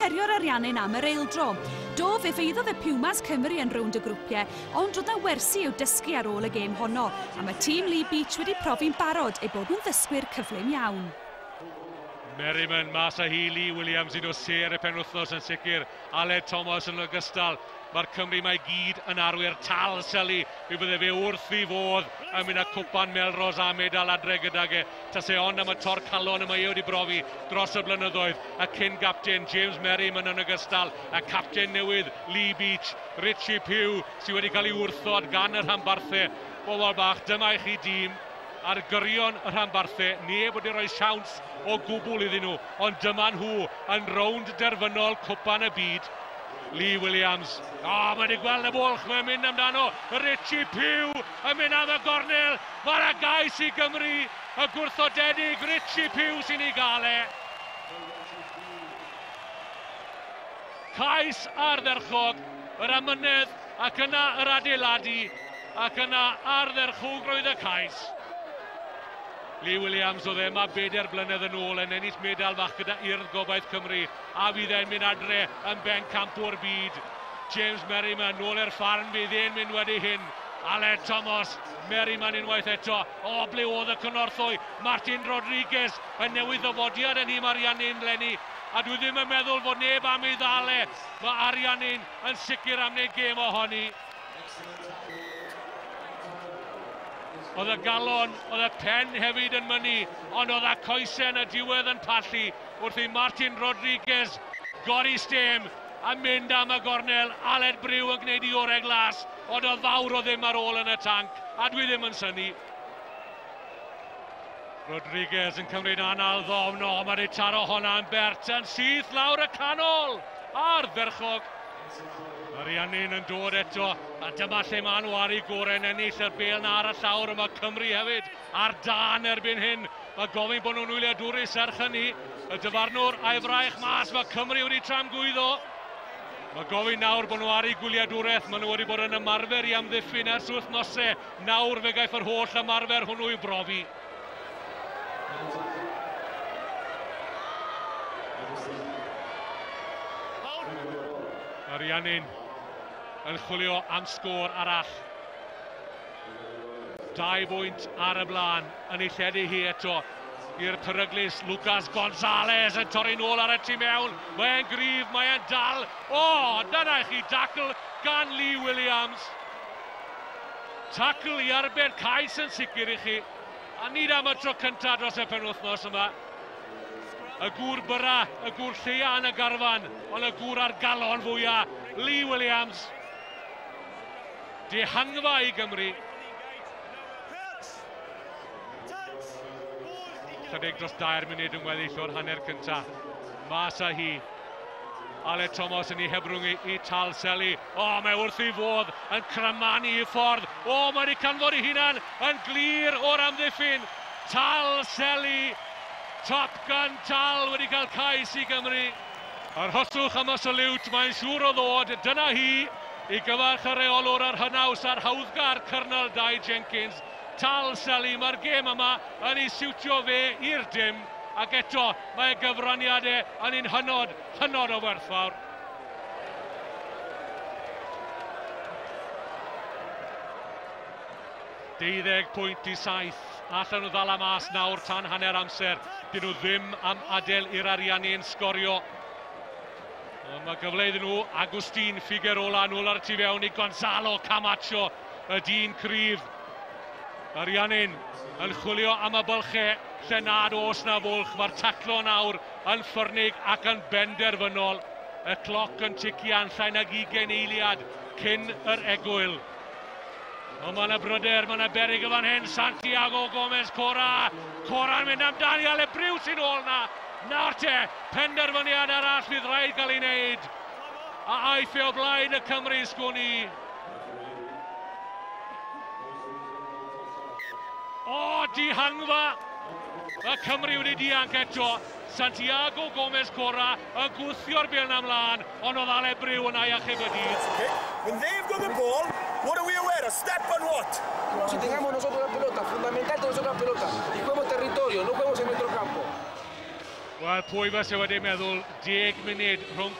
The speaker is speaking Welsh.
Herio'r Ariannin am yr eildro. Do, fe feiddodd y Pumas Cymru yn rownd y grwpiau, ond roedd 'na wersi i'w dysgu ar ôl y gêm honno, a mae tîm Lee Beach wedi profi'n barod eu bod nhw'n ddysgwyr cyflym iawn. Merriman mas â hi, Lee Williams un o sêr y penwythnos yn sicr, Aled Thomas yn ogystal. Mae'r Cymry 'ma i gyd yn arwyr tal Seli, mi fydde fe wrth ei fodd yn mynd â cwpan Melrose a medal adre gydag e. Tase ond am y tor calon y mae e wedi brofi dros y blynyddoedd. Y cyn gapten James Merriman yn ogystal, y capten newydd Lee Beach, Richie Pugh sydd wedi cael ei wrthod gan y rhanbarthau. Bobl bach, dyma i chi dîm ar gyrion y rhanbarthau, neb wedi rhoi siawns o gwbl iddyn nhw, ond dyma nhw yn rownd derfynol Cwpan y Byd. Lee Williams, o, oh, mae wedi gweld y bwlch, mae'n mynd amdano, Richie Pugh yn mynd am y gornel, mae'r gais i Gymru, y gwrthodedig Richie Pugh sy'n ei gael e. Cais ardderchog, yr amynedd ac yna yr adeiladu, ac yna ardderchogrwydd y cais. Lee Williams oedd e yma 4 blynedd yn ôl yn ennill medal fach gyda Urdd Gobaith Cymru, a fydd e'n mynd adre yn bencampwr byd. James Merriman nôl i'r ffarm, fydd e'n mynd wedi hyn. Aled Thomas, Merriman unwaith eto. O, ble oedd y cynorthwy? Martin Rodriguez yn newydd ddyfodiad yn nhîm Ariannin 'leni. A dwi ddim yn meddwl fod neb am ei ddal e. Mae Ariannin yn sicr am wneud gêm ohoni. Oedd y galon, oedd y pen hefyd yn mynnu, ond oedd y coesau yn y diwedd yn pallu wrth i Martin Rodriguez gori stêm a mynd am y gornel. Aled Brew yn gwneud i orau glas, ond oedd fawr o ddim ar ôl yn y tanc, a dwi ddim yn synnu. Rodriguez yn cymryd anal ddofn, o, mae wedi taro hwnna yn bert yn syth lawr y canol, ardderchog. Ariannin yn dod eto, a dyma lle maen nhw ar eu gorau yn ennill yr bêl na ar y llawr. Yma Cymru hefyd ar dân erbyn hyn. Mae gofyn bod nhw'n wyliadwrus serch hynny. Y dyfarnwr a'i fraich mas, mae Cymru wedi tramgwyddo. Mae gofyn nawr bod nhw ar eu gwyliadwraeth. Maen nhw wedi bod yn ymarfer i amddiffyn ers wythnosau. Nawr fe gaiff yr holl ymarfer hwnnw i'w brofi. Ariannin yn chwilio am sgôr arall. 2 bwynt ar y blaen yn ei lledu hi eto i'r peryglus Lucas Gonzalez yn torri nôl ar y tu mewn. Mae'n gryf, mae'n dal. O, dyna i chi dacl gan Lee Williams. Tacl i arbed cais yn sicr i chi. A nid am y tro cyntaf dros y penwythnos yma. Y gŵr byra, y gŵr lleia yn y garfan, ond y gŵr ar galon fwyaf, Lee Williams. Dihangfa i Gymru. Chydig dros 2 munud yn weddill o'r hanner cyntaf. Mas â hi. Aled Thomas yn ei hebrwng i Tal Seli. O, mae wrth ei fodd yn cramanu i ffordd. O, mae wedi canfod ei hunan yn glir o'r amddiffyn. Tal Seli. Top Gun Tal wedi cael cais i Gymru. Arhoswch am y saliwt, mae'n siŵr o ddod. Dyna hi i gyfarch y reolwr ar hynaws a'r hawddgar Cyrnol Dai Jenkins. Tal Seli, mae'r gêm yma yn ei siwtio fe i'r dim. Ac eto, mae gyfraniadau yn un hynod, hynod o werthfawr. 12 pwynt i 7. Allan nhw ddala mas nawr tan hanner amser. Dyn nhw ddim am adael i'r Ariannin sgorio. Ond mae gyfle iddyn nhw. Agustin Figuerola nôl ar y tu fewn i Gonzalo Camacho, y dyn cryf. Ariannin yn chwilio am y bylchau lle nad oes na fwlch. Mae'r taclo nawr yn ffyrnig ac yn benderfynol. Y cloc yn tician llai nag 20 eiliad cyn yr egwyl. Ond mae yna bryder, mae yna beryg y fan hyn. Santiago Gomez Cora. Cora'n mynd amdani, Aled Brew sy'n ôl na. Nawr te, penderfyniad arall fydd rhaid gael ei wneud. A aiff e o blaen y Cymru, sgwn i. O, dihangfa! Y Cymru wedi dianc eto. Santiago Gomez Cora yn gwthio'r bêl 'na ymlaen, ond oedd Aled Brew yna i achub y dydd. Okay. When they've got the ball, what do we aware? A step on what? Si tengamos nosotros la pelota, fundamental tener nosotros la pelota. Y juguemos territorio, no juguemos en nuestro campo. Wel, pwy fyse wedi meddwl 10 munud rhwng